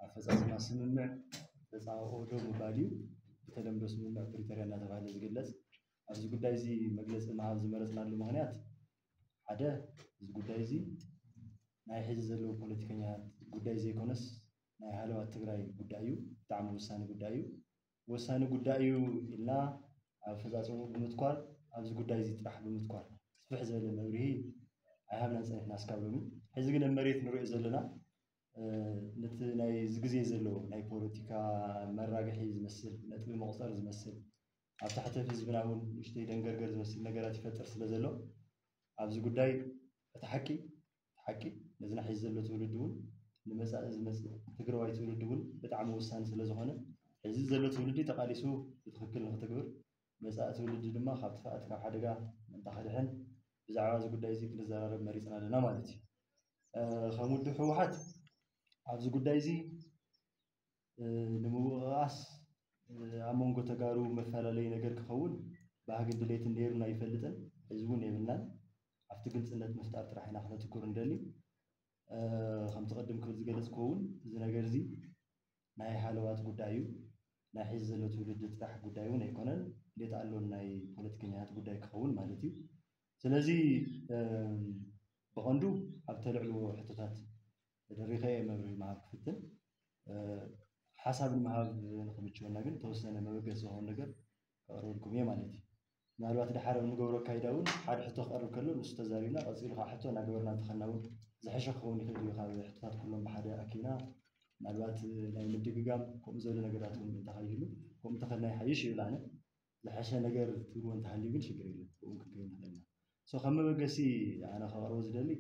ኣፈፃፅማ ስምምዕ ተፃባኦ ደው ምባል እዩ። ብተለምዶ ስምምዕ ፕሪቶርያ እናተባሃለ ዝግለፅ። ኣብዚ ጉዳይ እዚ መግለፂ ምሃብ ዝመረፅናሉ ምክንያት ሓደ፣ እዚ ጉዳይ እዚ ናይ ሕዚ ዘለዉ ፖለቲከኛታት ጉዳይ ዘይኮነስ ናይ ሃለዋት ትግራይ ጉዳይ እዩ። ብጣዕሚ ወሳኒ ጉዳይ እዩ። ወሳኒ ጉዳይ እዩ ኢልና ኣብ ኣፈፃፅምኡ ብምትኳር፣ ኣብዚ ጉዳይ እዚ ጥራሕ ብምትኳር ስፍሕ ዝበለ መብርሂ ኣይሃብናን ፀኒሕና እስካብ ሎሚ። ሕዚ ግን ኣብ መሬት ንሪኦ ዘለና ነቲ ናይ እዚ ግዜ ዘሎ ናይ ፖለቲካ መራግሒ ዝመስል፣ ነጥቢ መቑፀሪ ዝመስል፣ ኣብ ታሕቲ ህዝብና እውን ንእሽተይ ደንገርገር ዝመስል ነገራት ይፈጥር ስለ ዘሎ ኣብዚ ጉዳይ እቲ ሓቂ ሓቂ ነዚ ናሕዚ ዘሎ ትውልዲ እውን ንመፃኢ ዝመፅእ ትግራዋይ ትውልዲ እውን ብጣዕሚ ወሳኒ ስለ ዝኾነ ሕዚ ዘሎ ትውልዲ ተቓሊሱ ብትኽክል ንክትግብር መፃኢ ትውልዲ ድማ ካብ ጥፍኣት ካብ ሓደጋ ምእንታ ክድሕን ብዛዕባ እዚ ጉዳይ እዚ ክንዘራረብ መሪፅና ኣለና ማለት እዩ። ከም ውድብ ህወሓት ኣብዚ ጉዳይ እዚ ንምውቕቓስ ኣብ መንጎ ተጋሩ መፈላለዪ ነገር ክኸውን ባህግን ድሌትን ነይሩና ኣይፈልጥን፣ ሕዚ እውን የብልናን። ኣብቲ ግልፅነት ምፍጣር ጥራሕ ኢና ክነትኩር ንደሊ። ከምቲ ቅድም ክብል ዝገለፅክዎ እውን እዚ ነገር እዚ ናይ ሃለዋት ጉዳይ እዩ። ናይ ሕዚ ዘሎ ትውልዲ ጥራሕ ጉዳይ እውን ኣይኮነን፣ ሌት ኣሎን ናይ ፖለቲከኛታት ጉዳይ ክኸውን ማለት እዩ። ስለዚ ብቐንዱ ኣብ ተልዕልዎ ሕቶታት ተደሪኸ እየ መብርሂ ምሃብ ክፍትን። ሓሳብ ንምሃብ ንክምችወና ግን ተወሰነ መበገሲ ዝኾን ነገር ከቕርበልኩም እየ ማለት እዩ። ምናልባት ድሓር ኣብ ንገብሮ ኣካይዳ እውን ሓደ ሕቶ ክቐርብ ከሎ ንሱ ተዛሪብና ቀፂሉ ከዓ ሕቶ እናገበርና እንተኸና እውን ዝሐሸ ክኸውን ይኽእል እዩ። ካብ ሕቶታት ኩሎም ብሓደ ኣኪብና ምናልባት ናይ ምድግጋም ከምኡ ዝበለ ነገራት እውን እንተኸይህሉ ከምኡ እንተኸልና ይሓይሽ ይብል ኣነ። ዝሐሸ ነገር ትብልዎ እንተሃልዩ ግን ሽግር የለን፣ ብኡ ክንከይድ ንኽእል ኢና። ሶ ከም መበገሲ ኣነ ከቕርቦ ዝደሊ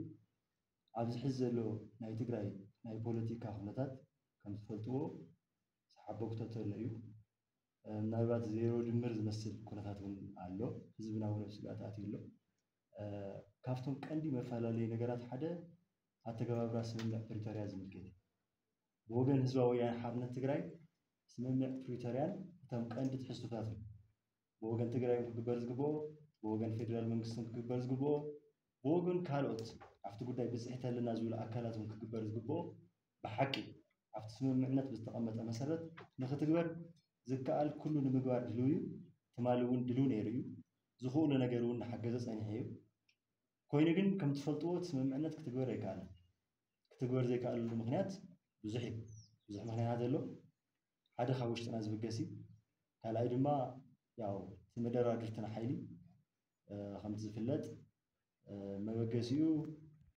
ኣብዚ ሕዚ ዘሎ ናይ ትግራይ ናይ ፖለቲካ ኩነታት ከም ትፈልጥዎ ዝሓበኩቶ ተሎ እዩ። ምናልባት ዜሮ ድምር ዝመስል ኩነታት እውን ኣሎ። ህዝብና እውን ኣብ ስግኣት ኣትዩ ኣሎ። ካብቶም ቀንዲ መፈላለዩ ነገራት ሓደ ኣተገባብራ ስምምዕ ፕሪቶርያ ዝምልከት እዩ። ብወገን ህዝባዊ ወያነ ሓርነት ትግራይ ስምምዕ ፕሪቶርያን እቶም ቀንዲ ትሕዝቶታትን ብወገን ትግራይ ክግበር ዝግብኦ፣ ብወገን ፌደራል መንግስትን ክግበር ዝግብኦ፣ ብወገን ካልኦት ኣብቲ ጉዳይ ብፅሒት ኣለና ዝብሉ ኣካላት እውን ክግበር ዝግብኦ ብሓቂ ኣብቲ ስምምዕነት ብዝተቐመጠ መሰረት ንክትግበር ዝከኣል ኩሉ ንምግባር ድልው እዩ። ትማሊ እውን ድልው ነይሩ እዩ። ዝኽእሎ ነገር እውን እናሓገዘ ፀኒሑ እዩ። ኮይኑ ግን ከም ትፈልጥዎ እቲ ስምምዕነት ክትግበር ኣይከኣለን። ክትግበር ዘይከኣለሉ ምክንያት ብዙሕ እዩ። ብዙሕ ምክንያታት ኣሎ። ሓደ ካብ ውሽጥና ዝብገስ እዩ። ካልኣይ ድማ ያው እቲ መደራድርትና ሓይሊ ከምቲ ዝፍለጥ መበገሲኡ